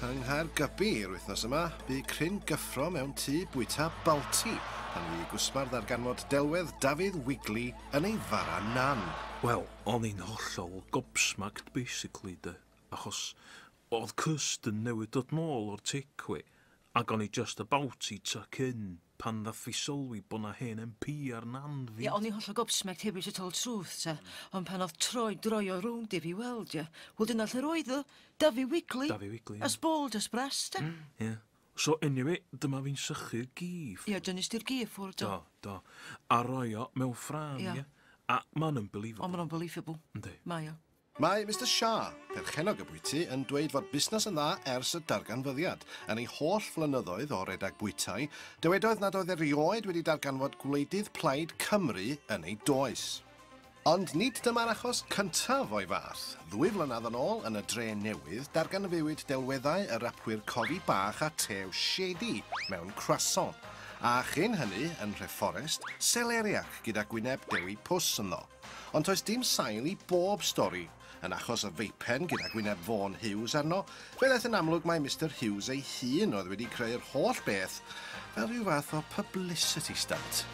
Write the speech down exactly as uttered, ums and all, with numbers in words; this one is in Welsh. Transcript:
Yng Nghaergybi yr wythnos yma, bu cryn gyffro mewn tŷ bwyta Balti pan fu gwsmar ddarganfod delwedd Dafydd Wigley yn ei fara nan. Wel, o'n i'n hollol gobsmacked, basically, de. Achos oedd Kirsten newydd dod nôl o'r takeaway, ac o'n i just about i tuck in pan ddath fi sylwi bod na hen M P ar nan fi. Ie, o'n i'n hollol gobsmacked hefyd, to tell truth, ta. Ond pan oedd troi droi o rownd i fi weld, ie. Wel, dyna lle roedd o. Dafi Wigley. Dafi Wigley, ie. As bold as brass, ta. Ie. So, anyway, dyma fi'n sychu'r gif. Ie, dynnu di'r gif ffwrdd, Do, do. do. A roi o mewn ffrâm, Ie. ie. A ma'n unbelievable. O, ma'n unbelievable. Yndi. Mae o. Mae Mister Shah, perchennog y bwyty, yn dweud fod busnes yn dda ers y darganfyddiad. Yn ei holl flynyddoedd o redag bwytai, dywedodd nad oedd erioed wedi darganfod gwleidydd Plaid Cymru yn ei does. Ond nid dyma'r achos cyntaf o'i fath. Ddwy flynedd yn ôl yn y Dre Newydd, darganfuwyd delweddau y rapwyr Cofi Bach a Tew Shady mewn croissant. A chyn hynny, yn Nhreforest, seleriac gyda gwyneb Dewi Pws ynddo. Ond toes dim sail i bob stori. Yn achos y feipen gyda gwyneb Vaughan Hughes arno, fe ddaeth yn amlwg mai Mister Hughes ei hun oedd wedi creu'r holl beth fel rhyw fath o publicity stunt.